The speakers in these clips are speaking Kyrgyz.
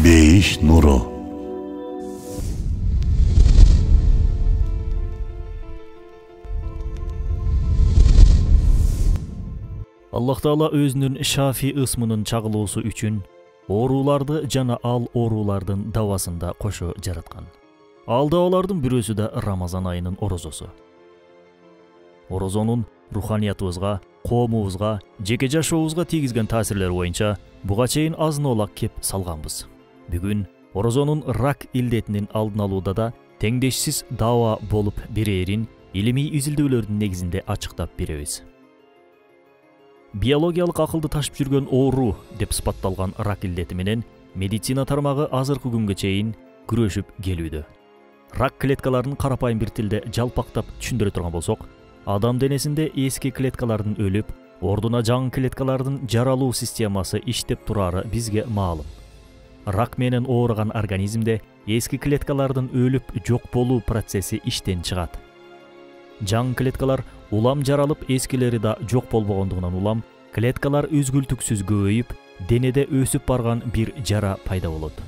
Бейиш нуру. Аллах Таала өзүнүн шафи ысмынын чагылуусу үчүн ооруларды жана ал оорулардын давасында кошо жараткан. Ал давалардын бирөөсү да Рамазан айынын орозосу. Орозонун руханиятыбызга, коомубузга, жеке жашообузга тийгизген таасирлери боюнча буга чейин азын-олак кеп салганбыз. Бүгүн орозонун рак илдетинин алдын алууда да теңдешсиз дава болуп берээрин илимий изилдөөлөрдүн негизинде ачыктап беребиз. Биологиялык акылды ташып жүргөн оору деп сыпатталган рак илдети менен медицина тармагы азыркы күнгө чейин күрөшүп келүүдө. Рак клеткаларын карапайым бир тилде жалпактап түшүндүрө турган болсок, адам денесинде эски клеткалардын өлүп, ордуна жаңы клеткалардын жаралуу системасы иштеп турары бизге маалым. Рак менен ооруган организмде эски клеткалардын өлүп жок болуу процесси иштен чыгат. Жаңы клеткалар улам жаралып, эскилери да жок болбогондугунан улам клеткалар үзгүлтүксүз көбөйүп, денеде өсүп барган бир жара пайда болот.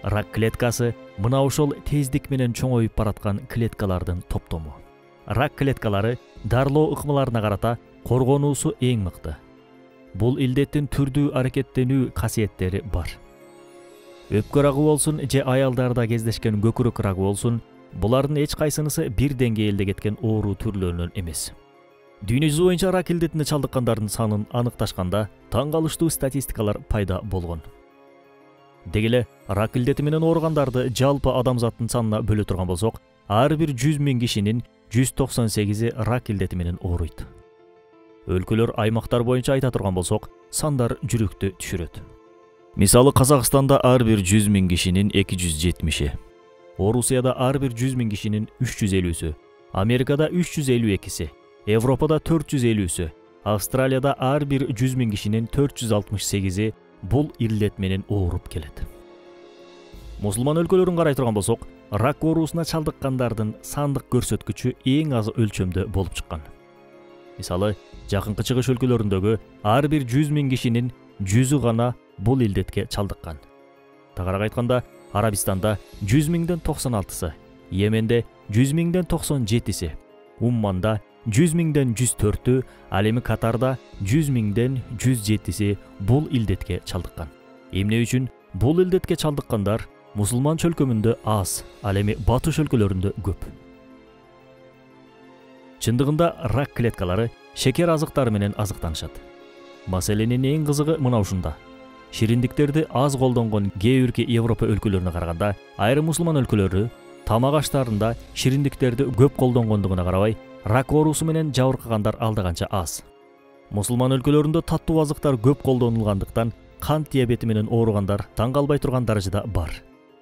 Рак клеткасы мына ошол тездик менен чоңоюп бараткан клеткалардын топтому. Рак клеткалары дарылоо ыкмаларына карата коргонуусу эң мыкты. Бул илдеттин түрдүү аракеттенүү касиеттери бар. Өпкө рагы болсун же аялдарда кездешкен көкүрөк рагы болсун, булардын эч кайсынысы бир деңгээлде кеткен оору түрлөрүнөн эмес. Дүйнө жүзү боюнча рак илдетине чалдыккандардын санын аныкташканда таң калыштуу статистикалар пайда болгон. Деги эле рак илдети менен ооругандарды жалпы адамзаттын санына бөлө турган болсок, ар бир 100 000 кишинин 198-и рак илдети менен ооруйт. Өлкөлөр, аймактар боюнча айта турган болсок, сандар жүрөктү түшүрөт. Мисалы, Казакстанда ар бир 100 000 кишинин 270-и, Орусияда ар бир 100 000 кишинин 350-сү, Америкада 352-си, Европада 450-сү, Австралияда ар бир 100 000 кишинин 468-и бул илдет менен ооруп келет. Мусулман өлкөлөрүн карай турган болсок, рак оорусуна чалдыккандардын сандык көрсөткүчү эң аз өлчөмдө болуп чыккан. Мисалы, жакынкы чыгыш өлкөлөрүндөгү ар бир 100 000 кишинин 100-ü гана бул илдетке чалдыккан. Тагыраак айтканда, Арабистанда 100 000ден 96-сы, Йеменде 100 000ден 97-си, Умманда 100 000ден 104-ü, ал эми Катарда 100 000ден 107-си бул илдетке чалдыккан. Эмне үчүн бул илдетке чалдыккандар мусулман чөлкөмүндө аз, ал эми батыш өлкөлөрүндө көп. Чындыгында рак клеткалары шекер азыктары менен азыктанышат. Маселенин эң кызыгы мына ушунда. Шириндиктерди аз колдонгон кээ бирки Европа өлкөлөрүнө караганда, айрым мусулман өлкөлөрү тамак аштарында шириндиктерди көп колдонгондугуна карабай, рак оорусу менен жабыркагандар алда канча аз. Мусулман өлкөлөрүндө таттуу азыктар көп колдонулгандыктан кант диабети менен ооругандар таң калбай турган даражада бар.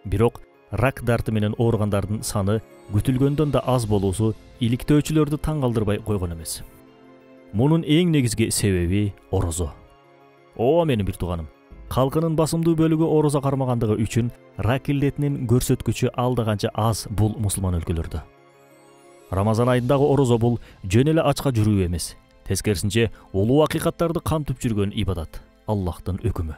Бирок рак дарты менен ооругандардын саны күтүлгөндөн да аз болуусу иликтөөчүлөрдү таң калтырбай койгон эмес. Мунун эң негизги себеби орозо. Ооба менин бир тууганым, калкынын басымдуу бөлүгү орозо кармагандыгы үчүн рак илдетинин көрсөткүчү алда канча аз бул мусулман өлкөлөрдө. Рамазан айындагы орозо бул жөн эле ачка жүрүү эмес, тескерисинче улуу акыйкаттарды камтып жүргөн ибадат, Аллахтын өкүмү.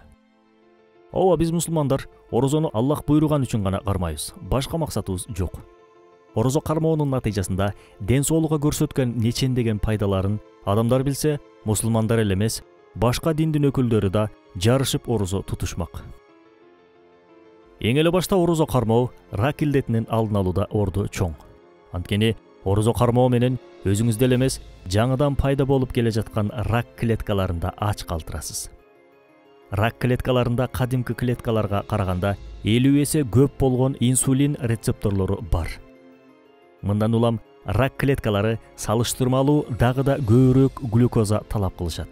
Ооба, биз мусулмандар орозону Аллах буйруган үчүн гана кармайбыз, башка максатыбыз жок. Орозо кармоонун натыйжасында ден соолукка көрсөткөн нечендеген пайдаларын адамдар билсе, мусулмандар эле эмес, башка диндин өкүлдөрү да жарышып орозо тутушмак. Эң эле башта орозо кармоо рак илдетинин алдын алууда орду чоң. Анткени орозо кармоо менен өзүңүздө эле эмес, жаңыдан пайда болуп келе жаткан рак клеткаларында ач калтырасыз. Рак клеткаларында кадимки клеткаларга караганда 50 эсе көп болгон инсулин рецепторлору бар. Мындан улам рак клеткалары салыштырмалуу дагы да көбүрөөк глюкоза талап кылышат.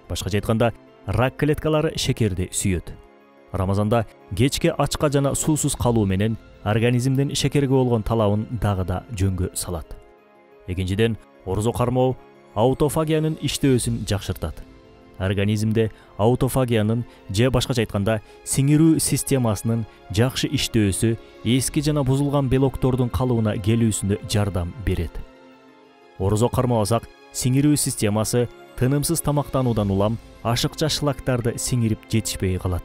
Башкача айтканда, рак клеткалары шекерди сүйөт. Рамазанда кечке ачка жана суусуз калуу менен организмдин шекерге болгон талабын дагы да жөнгө салат. Экинчиден, орозо кармоо аутофагиянын иштөөсүн жакшыртат. Организмде аутофагиянын же башкача айтканда сиңирүү системасынын жакшы иштөөсү эски жана бузулган белоктордун калыбына келүүсүнө жардам берет. Орозо кармабасак, сиңирүү системасы тынымсыз тамактануудан улам ашыкча шлактарды сиңирип жетишпей калат.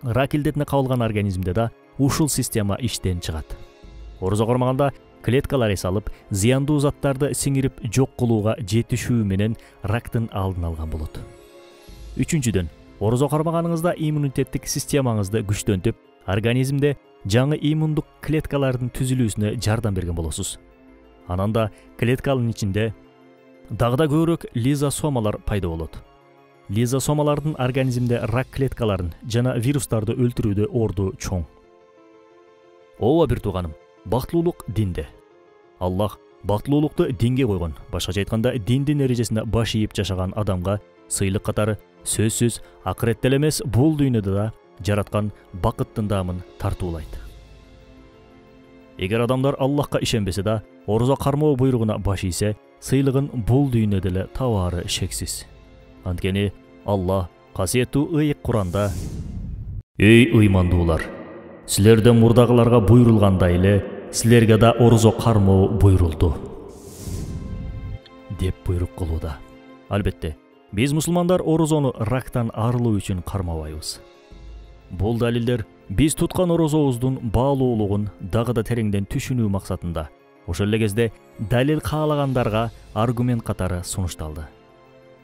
Рак илдетине кабылган организмде да ушул система иштен чыгат. Орозо кармаганда клеткалар эс алып, зыяндуу заттарды сиңирип жок кылууга жетишүү менен рактын алдын алган болот. Үчүнчүдөн, орозо кармаганыңызда иммунитеттик системаңызды күчтөнтүп, организмде жаңы иммундук клеткалардын түзүлүүсүнө жардам берген болосуз. Анан да клетканын ичинде дагы да көбүрөөк лизосомалар пайда болот. Лизосомалардын организмде рак клеткаларын жана вирустарды өлтүрүүдө орду чоң. Ооба бир тууганым, бактылуулук динде. Аллах бактылуулукту динге койгон. Башкача айтканда, диндин эрежесине баш ийип жашаган адамга сыйлык катары сөзсүз акыретте эле эмес, бул дүйнөдө да жараткан бакыттын даамын тартуулайт. Эгер адамдар Аллахка ишенбесе да, орозо кармоо буйругуна баш ийсе, сыйлыгын бул дүйнөдө эле табаары шексиз. Анткени Аллах касиеттүү ыйык Куранда: "Эй ыймандуулар, силерден мурдагыларга буйрулгандай эле силерге да орозо кармоо буйрулду" деп буйрук кылууда. Албетте, биз мусулмандар орозону рактан арылуу үчүн кармабайбыз. Бул далилдер биз туткан орозобуздун баалуулугун дагы да тереңден түшүнүү максатында, ошол эле кезде далил каалагандарга аргумент катары сунушталды.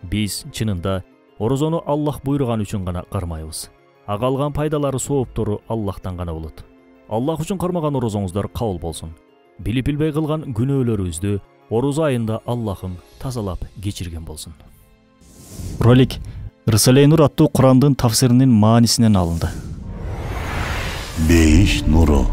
Биз чынында орозону Аллах буйруган үчүн гана кармайбыз. Ага алган пайдалары, сооптору Аллахтан гана болот. Аллах үчүн кармаган орозоңуздар кабыл болсун. Билип билбей кылган күнөөлөрүбүздү орозо айында Аллахым тазалап кечирген болсун. Ролик Рисале-и Нур аттуу Курандын тафсиринин маанисинен алынды. Бейиш нуру.